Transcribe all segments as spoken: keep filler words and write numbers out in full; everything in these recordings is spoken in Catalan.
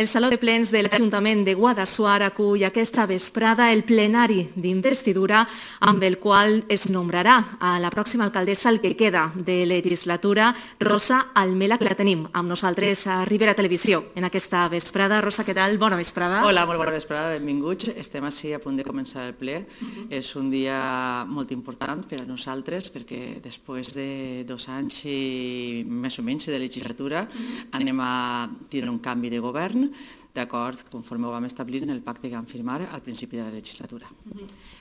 El Saló de Plens de l'Ajuntament de Guadassuar acull aquesta vesprada el plenari d'investidura amb el qual es nombrarà a la pròxima alcaldessa el que queda de legislatura, Rosa Almela, que la tenim amb nosaltres a Ribera Televisió en aquesta vesprada. Rosa, què tal? Bona vesprada. Hola, molt bona vesprada, benvinguts. Estem així a punt de començar el ple. Uh-huh. És un dia molt important per a nosaltres perquè després de dos anys i més o menys de legislatura uh-huh. anem a tindre un canvi de govern d'acord, conforme ho vam establir en el pacte que vam firmar al principi de la legislatura.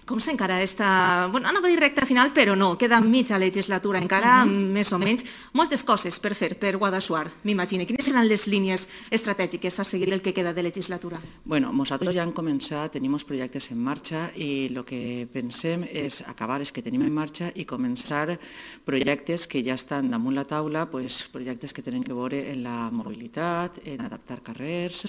Com s'encara esta... Bueno, anava a dir recta final, però no, queda mitja legislatura encara, uh-huh. més o menys. Moltes coses per fer per Guadassuar, m'imagino. Quines seran les línies estratègiques a seguir el que queda de legislatura? Bueno, nosaltres ja hem començat, tenim els projectes en marxa i el que pensem és acabar els que tenim en marxa i començar projectes que ja estan damunt la taula, pues, projectes que tenen que veure en la mobilitat, en adaptar carrers,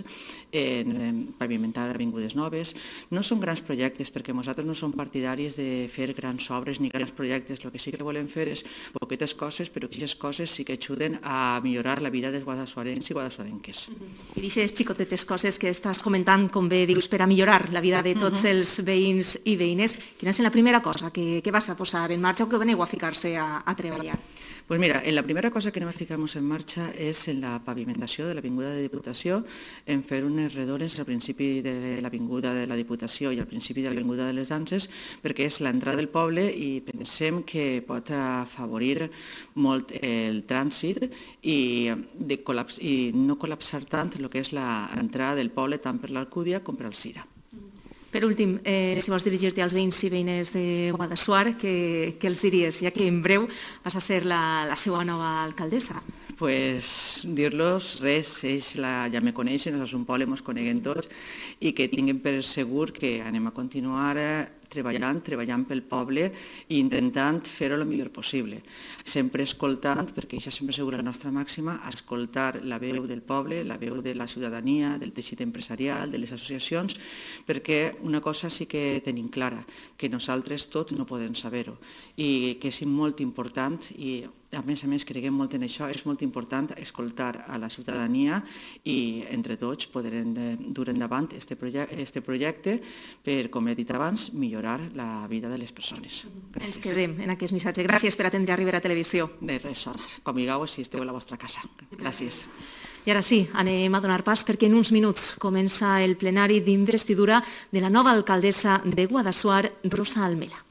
en, en pavimentar avingudes noves. No són grans projectes perquè nosaltres no som partidaris de fer grans obres ni grans projectes. El que sí que volem fer és poquetes coses, però aquestes coses sí que ajuden a millorar la vida dels guadassuarencs i guadassuarenques. I d'aquestes xicotetes coses que estàs comentant, com bé dius, per a millorar la vida de tots uh-huh. els veïns i veïnes, quina és la primera cosa que, que vas a posar en marxa o que veneu a ficar-se a, a treballar? Pues mira, la primera cosa que anem a ficar-nos en marxa és en la pavimentació de l'Avinguda de Diputació, en fer unes redores al principi de l'Avinguda de la Diputació i al principi de l'Avinguda de les Danses, perquè és l'entrada del poble i pensem que pot afavorir molt el trànsit i, de col·laps, i no col·lapsar tant el que és l'entrada del poble tant per l'Alcúdia com per al Cira. Per últim, eh, si vols dirigir-te als veïns i veïnes de Guadassuar, què, què els diries, ja que en breu vas a ser la, la seva nova alcaldessa? Pues dir-los res, ells la, ja me coneixen, és un poble, ens coneguem tots, i que tinguin per segur que anem a continuar treballant, treballant pel poble i intentant fer-ho el millor possible. Sempre escoltant, perquè això sempre és la nostra màxima, escoltar la veu del poble, la veu de la ciutadania, del teixit empresarial, de les associacions, perquè una cosa sí que tenim clara, que nosaltres tots no podem saber-ho i que és molt important i a més a més creguem molt en això, és molt important escoltar a la ciutadania i entre tots podrem dur endavant este projecte, este projecte per, com he dit abans, millorar la vida de les persones. Gràcies. Ens quedem en aquest missatge. Gràcies per atendre a Ribera Televisió. De res, com digueu, si esteu a la vostra casa. Gràcies. I ara sí, anem a donar pas perquè en uns minuts comença el plenari d'investidura de la nova alcaldessa de Guadassuar, Rosa Almela.